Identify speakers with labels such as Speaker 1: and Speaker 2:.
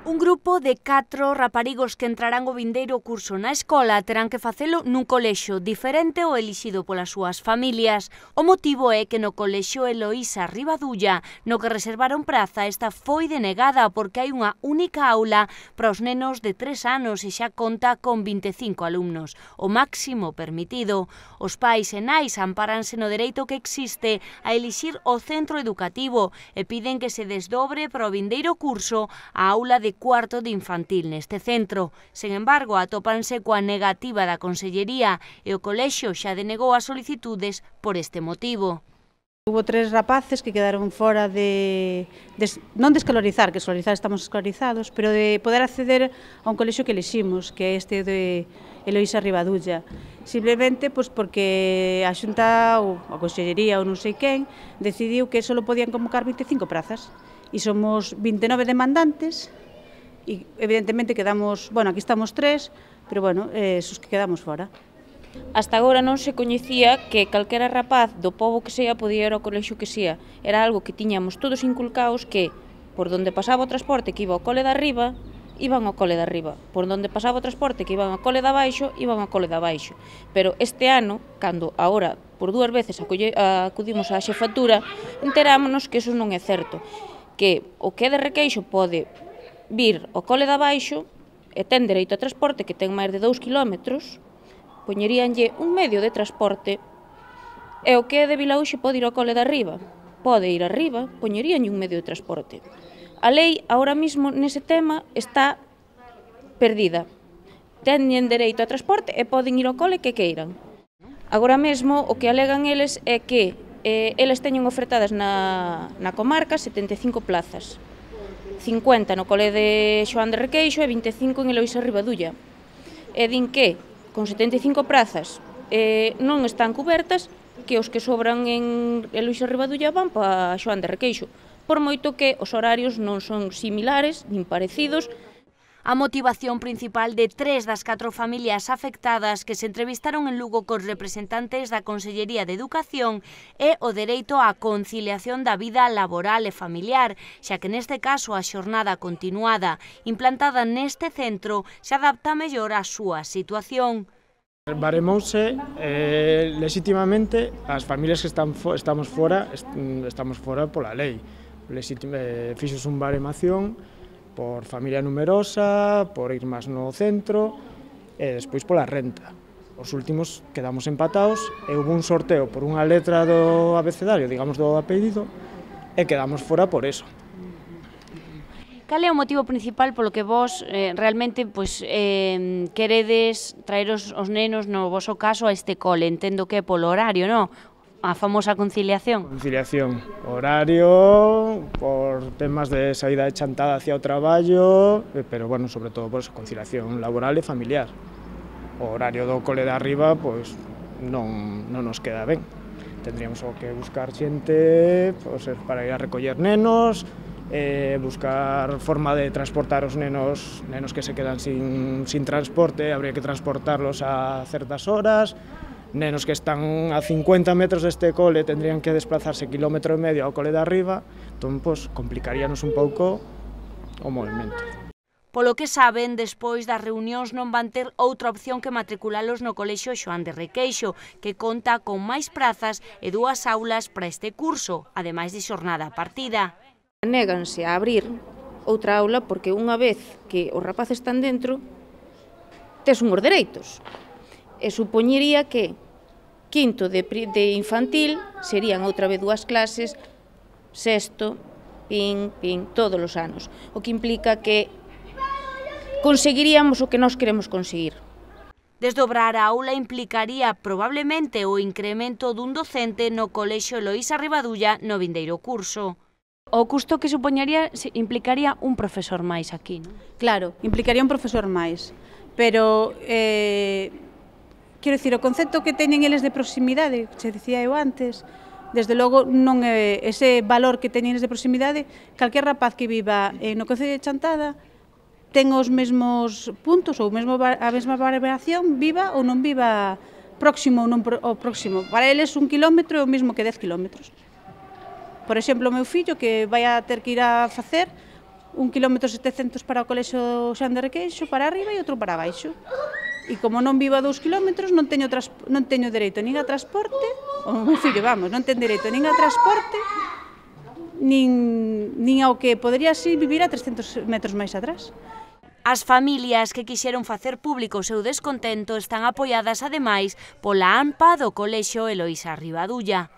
Speaker 1: Un grupo de 4 raparigos que entrarán o vindeiro curso na escola terán que facelo nun colexio diferente ao elixido polas súas familias. O motivo é que no colexio Eloísa Ribadulla, no que reservaron praza, esta foi denegada porque hai unha única aula para os nenos de 3 anos e xa conta con 25 alumnos, o máximo permitido. Os pais e nais amparanse no dereito que existe a elixir o centro educativo e piden que se desdobre para o vindeiro curso a aula de cuarto de infantil neste centro. Sen embargo, atópanse coa negativa da Consellería e o colexio xa denegou as solicitudes por este motivo.
Speaker 2: Hubo 3 rapaces que quedaron fora non de escolarizar, que escolarizar estamos escolarizados, pero de poder acceder a un colexio que eliximos, que é este de Eloísa Ribadulla. Simplemente porque a Xunta ou a Consellería ou non sei quen decidiu que só podían convocar 25 prazas e somos 29 demandantes e evidentemente quedamos, bueno, aquí estamos 3, pero bueno, esos que quedamos fora.
Speaker 3: Hasta agora non se coñecía que calquera rapaz do pobo que sea podía ir ao colexio que sea. Era algo que tiñamos todos inculcaos que por donde pasaba o transporte que iba ao cole de arriba, iban ao cole de arriba. Por donde pasaba o transporte que iban ao cole de abaixo, iban ao cole de abaixo. Pero este ano, cando agora por 2 veces acudimos á xefatura, enterámonos que eso non é certo. Que o que é de Requeixo pode vir ao cole de abaixo e ten dereito a transporte que ten máis de 2 kilómetros, poñeríanlle un medio de transporte e o que é de Vilaúxe pode ir ao cole de arriba. Pode ir arriba, poñeríanlle un medio de transporte. A lei, ahora mismo, nese tema, está perdida. Teñen dereito a transporte e poden ir ao cole que queiran. Agora mesmo, o que alegan eles é que eles teñen ofertadas na comarca 75 plazas. 50 no cole de Xoán de Requeixo e 25 en Eloísa Ribadulla. E din que, con 75 prazas non están cubertas, que os que sobran en Eloísa Ribadulla van para Xoán de Requeixo, por moito que os horarios non son similares, nin parecidos.
Speaker 1: A motivación principal de 3 das 4 familias afectadas que se entrevistaron en Lugo cos representantes da Consellería de Educación é o dereito á conciliación da vida laboral e familiar, xa que neste caso a xornada continuada implantada neste centro se adapta mellor á súa situación.
Speaker 4: Baremouse legitimamente as familias que estamos fora pola lei. Fixos un baremación por familia numerosa, por ir máis no centro e despois pola renta. Os últimos quedamos empatados e hubo un sorteo por unha letra do abecedario, digamos do apelido, e quedamos fora por eso.
Speaker 1: Cal é o motivo principal polo que vos realmente queredes traer os nenos, no voso caso, a este cole? Entendo que é polo horario, non? A famosa conciliación.
Speaker 4: Conciliación, horario, por temas de saída de chantada hacia o traballo, pero, bueno, sobre todo, por conciliación laboral e familiar. O horario do cole de arriba, pois, non nos queda ben. Tendríamos que buscar xente para ir a recoller nenos, buscar forma de transportar os nenos que se quedan sin transporte, habría que transportarlos a certas horas. Nenos que están a 50 metros deste cole tendrían que desplazarse 1,5 km ao cole de arriba, entón, complicaríanos un pouco o movimento.
Speaker 1: Polo que saben, despois das reunións non van ter outra opción que matriculalos no colexio Xoán de Requeixo, que conta con máis prazas e 2 aulas para este curso, ademais de xornada partida.
Speaker 3: Néganse a abrir outra aula porque unha vez que os rapaces están dentro, tes unhos dereitos. E supoñería que quinto de infantil serían outra vez 2 clases, sexto, todos os anos. O que implica que conseguiríamos o que nós queremos conseguir.
Speaker 1: Desdobrar a aula implicaría probablemente o incremento dun docente no colexio Eloísa Ribadulla no vindeiro curso. O custo que supoñaría implicaría un profesor máis aquí, non?
Speaker 2: Claro, implicaría un profesor máis, pero quero dicir, o concepto que teñen eles de proximidade, que se dicía eu antes, desde logo non é ese valor que teñen eles de proximidade, calquer rapaz que viva no concello de Chantada ten os mesmos puntos ou a mesma variación, viva ou non viva próximo ou non próximo. Para eles 1 kilómetro é o mesmo que 10 kilómetros. Por exemplo, o meu fillo que vai a ter que ir a facer 1,7 km para o colexo Xoán de Requeixo, para arriba e outro para baixo. E como non vivo a 2 km, non teño dereito nin a transporte, o meu fillo, vamos, non ten dereito nin a transporte, nin ao que podría así vivir a 300 metros máis atrás.
Speaker 1: As familias que quixeron facer público o seu descontento están apoiadas ademais pola ANPA do Colexio Eloísa Rivadulla.